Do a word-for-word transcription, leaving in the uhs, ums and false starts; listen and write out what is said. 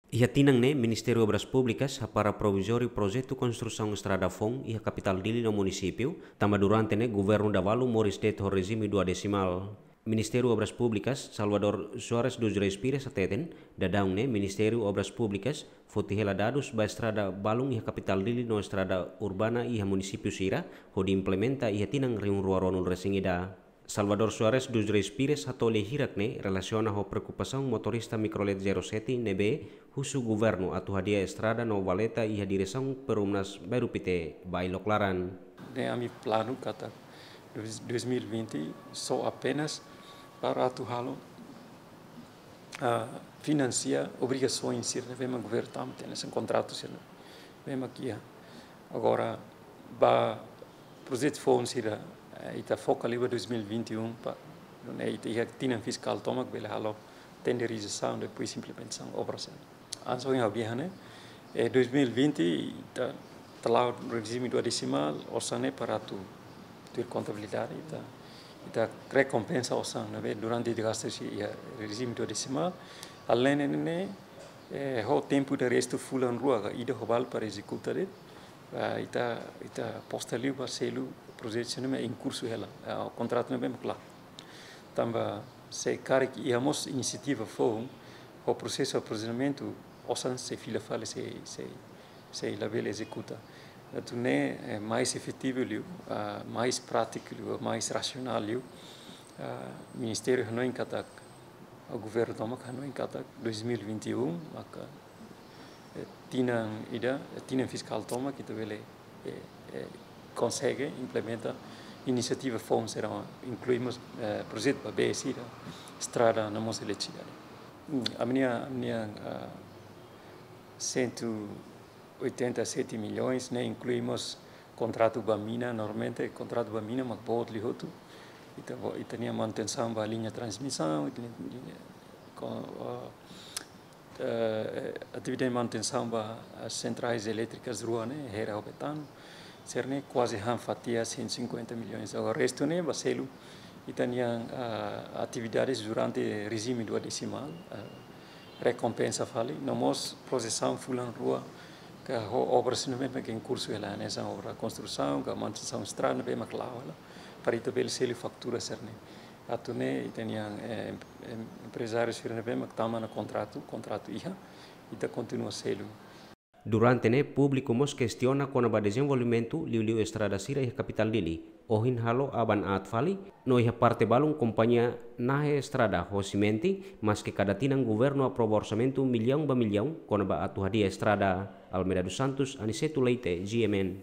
Iha tinan ne'e, Ministériu Obras Públikas hapara provizóriu projetu konstrusaun estrada foun iha kapitál Dili no munisípiu, tanba durante ne'e governu Davalu moris de'it ho rejime dua desimál. Ministériu Obras Públikas, Salvador Soares dos Reis Pires hateten, daudaun ne'e Ministériu Obras Públikas foti hela dadus ba estrada balun iha kapitál Dili no estrada urbana iha munisípiu sira, hodi implementa iha tinan rihun rua ruanulu resin ida. Salvador Soares dos Reis Pires hato'o lia hirak ne'e relasiona ho preokupasaun motorista mikrolet zero sete ne'ebé husu governu atu hadi'a estrada no valeta iha diresaun Perumnas Bairru Pité, Bailok Laran. Ne'e ami planu katak dois, dois mil e vinte só apenas para atu halo, ah, finansia obrigasaun sira ne'ebé mak governu tama hatene hanesan kontratu sira ne'ebé mak iha. Agora, ba projetu foun sira, eh, ita foka liu ba dois mil e vinte e um, pa, nune'e ita iha tinan fiskál tomak bele halo tenderizasaun, depois implementasaun obra sira. Hanesan ohin ha'u dehan ne'e, eh, dois mil e vinte ita, ita la'o rejime dua desimál, osan ne'e para atu tuir kontabilidade, ita, ita rekompensa osan ne'ebé durante ita gasta husi iha rejime dua desimál. Além ne'e, eh, ho tempu ida restu fulan rua ka ida ho balu para ezekuta de'it, ah, ita, ita aposta liu ba selu projetu sira ne'ebé em curso hela, ah, kontratu ne'ebé mak la'o. Tanba se karik iha mós inisiativa foun, ho prosesu aprovizionamentu, osan sei fila fali, sei, sei, sei labele ezekuta. Atu nune'e, eh, mais efetivu liu, ah, mais prátiku liu, mais rasionál liu, ah, ministériu hanoin katak, ah, governu tomak hanoin katak dois mil e vinte e um maka, eh, tinan ida, eh, tinan fiskál tomak ita bele, eh, eh, konsege implementa inisiativa foun sira, inklui mós, eh, projetu ba bee sira, estrada no mós eletrisidade. Hmm, ami-nia, ami-nia, ah, cento e oitenta e sete milhões ne'e inklui mós kontratu ba mina, normalmente kontratu ba mina mak boot liu hotu. Ita, ita-nia manutensaun ba liña transmisaun, ita-nia, ita-nia, ko-, ah, eh, atividade manutensaun ba, ah, sentrais elétrikas rua ne'e, Hera ho Betano, sira-ne'e kuaze han fatia cento e cinquenta milhões. Agora restu ne'e ba selu ita-nia, ah, atividades durante rejime dua desimál, ah, rekompensa fali, no mós projesaun fulan rua ka ho obra sira ne'ebé mak em curso hela, hanesan obra konstrusaun ka manutensaun estrada ne'ebé mak la'o hela, para ita bele selu faktura sira-ne'e. Atu nune'e ita-nia, eh, em-, em-, emprezáriu sira ne'ebé mak tama ona kontratu, kontratu iha, ita kontinua selu. Durante ne'e públiku mós kestiona kona-ba dezenvolvimentu liuliu estrada sira iha kapitál Dili. Ohin halo aban aat fali, no iha parte balun kompañia nahe estrada ho simente, maske kada tinan governu aprova orsamentu millaun ba millaun kona-ba atu hadi'a estrada. Almeida dos Santos, Aniceto Leite, G M N.